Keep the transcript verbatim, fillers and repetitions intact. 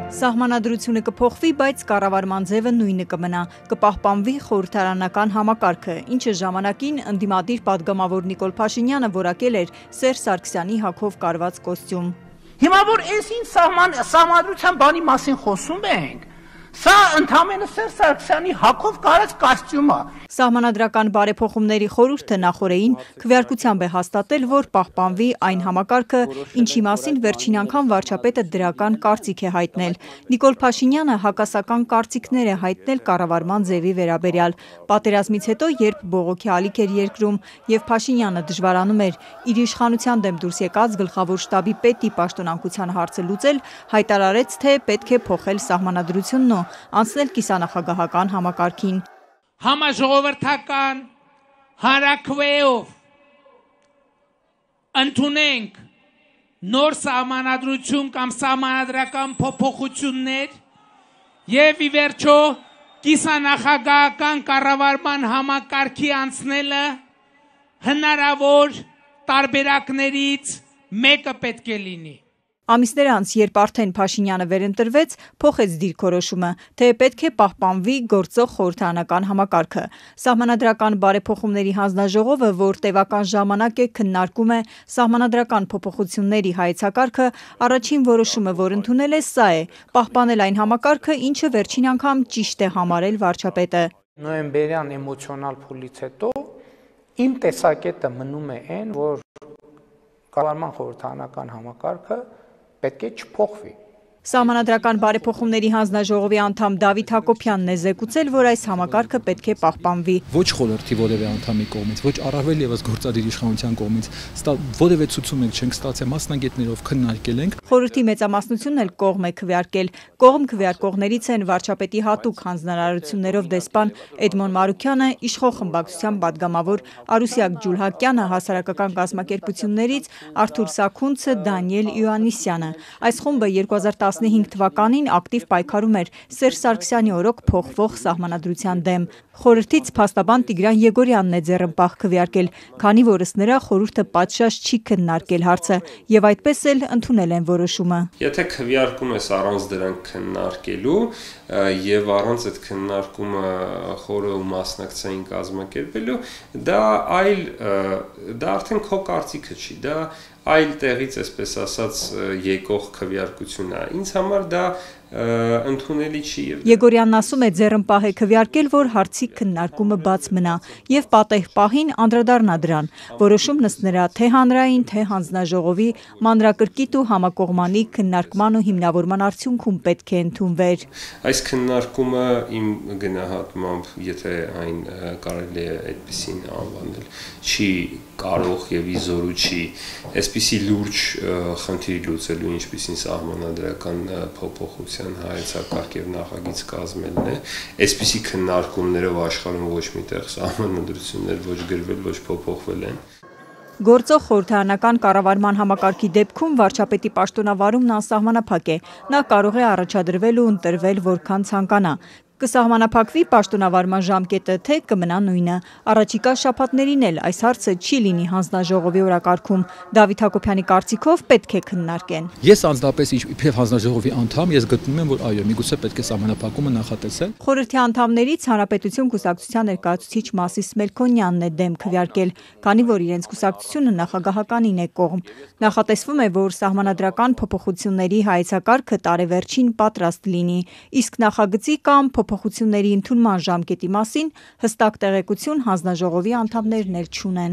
Սահմանադրությունը կփոխվի, բայց կառավարման ձևը նույնը կմնա, կպահպանվի խորհրդարանական համակարգը, ինչը ժամանակին ընդդիմադիր պատգամավոր Նիկոլ Փաշինյանը որակել էր Սերժ Սարգսյանի հագով կարված կոստյում։ Հիմա որ այս ինչ սահման սահմանադրության բանի մասին խոսում ենք, սա ընդհանրապես Սերժ Սարգսյանի հագով կարած կոստյում է։ Սահմանադրական բարեփոխումների խորհուրդը նախորդին քվեարկությամբ է հաստատել, որ պահպանվի այն համակարգը, ինչի մասին վերջին անգամ վարչապետը դրական կարծիք է հայտնել։ Նիկոլ Փաշինյանը հակասական կարծիքներ է հայտնել կառավարման ձևի վերաբերյալ։ Պատերազմից հետո, երբ բողոքի ալիք էր երկրում եւ Փաշինյանը դժվարանում էր իր իշխանության դեմ դուրս եկած գլխավոր շտաբի պետի պաշտոնանկության հարցը լուծել, հայտարարեց, թե պետք է փոխել սահմանադրությունն ու անցնել կիսանախագահական համակարգին։ Համաժողովրդական հանրաքվեով ընդունենք նոր սահմանադրություն կամ սահմանադրական փոփոխություններ եւ ի վերջո կիսանախագահական կառավարման համակարգի անցնելը հնարավոր տարբերակներից մեկը պետք է լինի։ Ամիսներ անց, երբ արդեն Փաշինյանը վերընտրվեց, փոխեց դիրքորոշումը, թե պետք է պահպանվի գործող խորհրդարանական համակարգը։ Սահմանադրական բարեփոխումների հանձնաժողովը, որ տևական ժամանակ է քննարկում է սահմանադրական փոփոխությունների հայեցակարգը, առաջին որոշումը, որ ընդունել է, սա է՝ պահպանել այն համակարգը, ինչը վերջին անգամ ճիշտ է համարել վարչապետը։ Նոյեմբերյան էմոցիոնալ փուլից հետո իմ տեսակետը մնում է այն, որ կառավարման խորհրդարանական համակարգը պետք է չփոխվի։ Սահմանադրական բարեփոխումների հանձնաժողովի անդամ Դավիթ Հակոբյանն է զեկուցել, որ այս համակարգը պետք է պահպանվի։ Ոչ խորհրդի որևէ անդամի կողմից, ոչ առավել եւս գործադիր իշխանության կողմից որևէ ցուցում չենք ստացել, մասնագետներով քննարկել ենք։ Խորհրդի մեծամասնությունն էլ կողմ է քվեարկել։ Կողմ քվեարկողներից են վարչապետի հատուկ հանձնարարություններով դեսպան Էդմոն Մարուքյանը, իշխող խմբակցության պատգամավոր Արուսյակ Ջուլհակյանը, հասարակական կազմակերպություններից Արթուր Սաքունցը, Դանիել Իոաննիսյանը։ Այս խումբը երկու հազար տասնհինգ թվականին ակտիվ պայքարում էր Սերժ Սարգսյանի օրոք փոխվող սահմանադրության դեմ։ Խորհրդից փաստաբան Տիգրան Եգորյանն է ձեռնպահ քվեարկել, քանի որ ըստ նրա խորհուրդը պատշաճ չի քննարկել հարցը եւ այդպես էլ ընդունել են որոշումը։ Եթե քվեարկում ես առանց դրանք քննարկելու եւ առանց այդ քննարկումը խորը ու մասնակցային կազմակերպելու, դա այլ դա արդեն քո կարծիքը չի, դա այլ տեղից, այսպես ասած, եկող քվեարկություն է։ Ինձ համար դա ընդունելի չի։ Եգորյանն ասում է, ձեռնպահ է քվեարկել, որ հարցի քննարկումը բաց մնա եւ պատեհ պահին անդրադառնա դրան։ Որոշումն ըստ նրա թե հանրային, թե հանձնաժողովի մանրակրկիտ ու համակողմանի քննարկման ու հիմնավորման արդյունքում պետք է ընդունվեր։ Այս քննարկումը իմ գնահատմամբ, եթե այն կարելի է այդպեսին անվանել, չի կարող եւ իզորու չի այսպիսի լուրջ խնդիր լուծելու, ինչպիսին սահմանադրական փոփոխության հայեցակարգ եւ նախագիծ կազմելն է, այսպիսի քննարկումներով աշխարհում ոչ միտեղ սահմանադրություններ ոչ գրվել, ոչ փոփոխվել են։ Գործող խորհրդարանական կառավարման համակարգի դեպքում վարչապետի պաշտոնավարումն անսահմանափակ է։ Նա կարող է առաջադրվել ու ընտրվել որքան ցանկանա։ Կսահմանափակվի պաշտոնավարման ժամկետը, թե կմնա նույնը։ Առաջիկա շաբաթներին էլ այս հարցը չի լինի հանձնաժողովի օրակարգում։ Դավիթ Հակոբյանի կարծիքով պետք է քննարկեն։ Ես անձնապես իբրև հանձնաժողովի անդամ, ես գտնում եմ, որ այո, միգուցե պետք է սահմանափակումը նախատեսել։ Խորհրդի անդամներից Հանրապետություն կուսակցության ներկայացուցիչ Մասիս Մելքոնյանն է դեմ քվեարկել, քանի որ իրենց կուսակցությունը նախագահականին է կողմ։ Նախատեսվում է, որ սահմանադրական փոփոխությունների հայեցակարգը տարեվերջին պատրաստ լինի, իսկ նախագծի կամ փոփոխությունների ընդունման ժամկետի մասին հստակ տեղեկություն հանձնաժողովի անդամներն էլ չունեն։